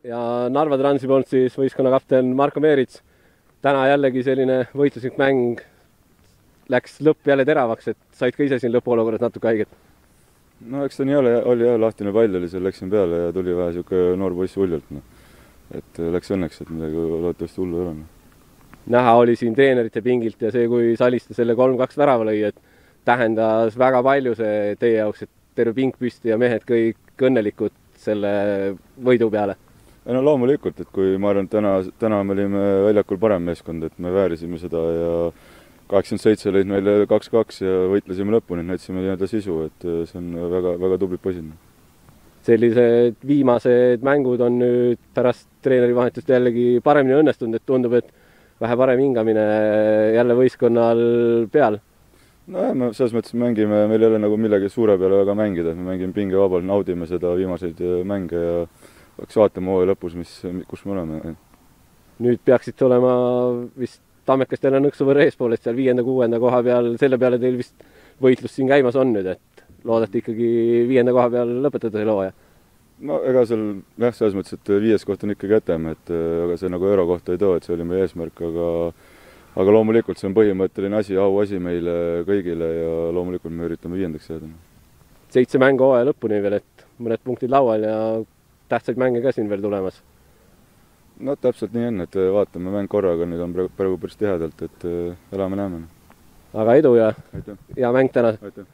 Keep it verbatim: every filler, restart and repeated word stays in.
ja Narva Transi poolt siis võistkonna kapten Marko Meerits. Täna jällegi selline võitluslik mäng, läks lõpp jälle teravaks, et said ka ise siin lõpuolukorras natuke haiget. No eks ta nii oli, oli jah, lahtine pall oli, seal läksin peale ja tuli vähe siuke noor poiss uljult. No. Et läks õnneks, et midagi loodetavasti hullu ei ole. Näha oli siin treenerite pingilt ja see, kui Saliste selle kolm kaks värava lõi, et tähendas väga palju see teie jaoks, et terve pink püsti ja mehed kõik õnnelikud selle võidu peale. No loomulikult, et kui ma arvan, et täna, täna me olime väljakul parem meeskond, et me väärisime seda ja kaheksakümmend seitse lõid meile kaks kaks ja võitlesime lõpuni, näitasime nii-öelda sisu, et see on väga, väga tubli poisid. Sellised viimased mängud on nüüd pärast treenerivahetust jällegi paremini õnnestunud, et tundub, et vähe parem hingamine jälle võistkonnal peal. No jah, me selles mõttes mängime, meil ei ole nagu millegi suure peale väga mängida, me mängime pingevabalt, naudime seda viimaseid mänge ja peaks vaatama hooaja lõpus, mis, kus me oleme. Nüüd peaksid olema vist Tammekast jälle nõksu võrra eespool, et seal viienda, kuuenda koha peal, selle peale teil vist võitlus siin käimas on nüüd, et loodate ikkagi viienda koha peal lõpetada selle hooaja? No ega seal jah, selles mõttes, et viies koht on ikkagi jätame, et aga see nagu euro kohta ei too, et see oli meie eesmärk, aga aga loomulikult see on põhimõtteline asi, au asi meile kõigile ja loomulikult me üritame viiendaks jääda. Seitse mängu hooaja lõpuni veel, et mõned punktid laual ja tähtsaid mänge ka siin veel tulemas. No täpselt nii on, et vaatame mäng korraga, nüüd on praegu päris tihedalt, et elame-näeme. Aga edu ja Aitäh. hea mäng täna! Aitäh.